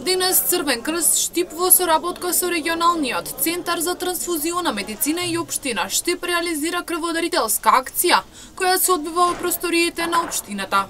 Денес Црвен крст Штип во соработка со регионалниот центар за трансфузиона медицина и општина Штип реализира крводарителска акција која се одвива во просториите на општината.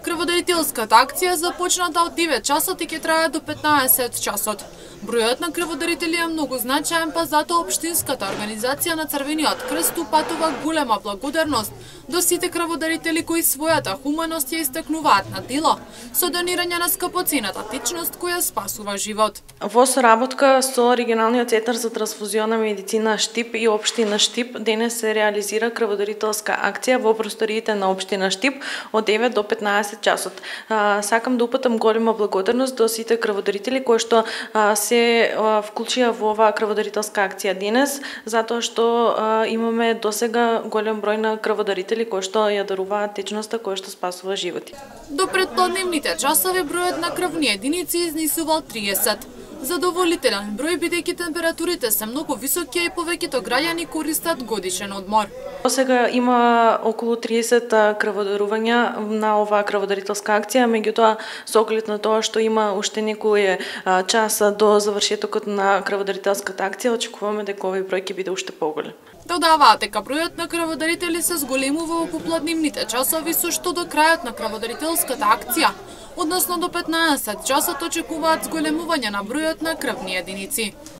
Крводарителската акција започната од 9 часот и ќе трае до 15 часот. Бројот на крводарители е многу значаен, па затоа општинската организација на Црвениот крст упатува голема благодарност до сите крводарители кои својата хуманост ја истакнуваат на дело со донирање на скапоцената течност која спасува живот. Во соработка со регионалниот центар за трансфузиона медицина Штип и општина Штип денес се реализира крводарителска акција во просториите на општина Штип од 9 до 15 часот. Сакам да упатам голема благодарност до сите крводарители кои што се вклучија во оваа крводарителска акција денес, затоа што имаме досега голем број на крводарители кои што ја даруваат течноста која што спасува животи. До предпладневните часови бројот на крвни единици изнесувал 30. Задоволителен број бидејќи температурите се многу високи и повеќето граѓани користат годишен одмор. Сега има околу 30 крводарувања на оваа крводарителска акција, меѓутоа со оглед на тоа што има уште некој час до завршетокот на крводарителската акција, очекуваме дека овој број ќе биде уште поголем. Додаваат дека бројот на крводарители се зголемува во попладневните часови, со што до крајот на крводарителската акција, односно до 15 часот, очекуваат зголемување на бројот на крвни единици.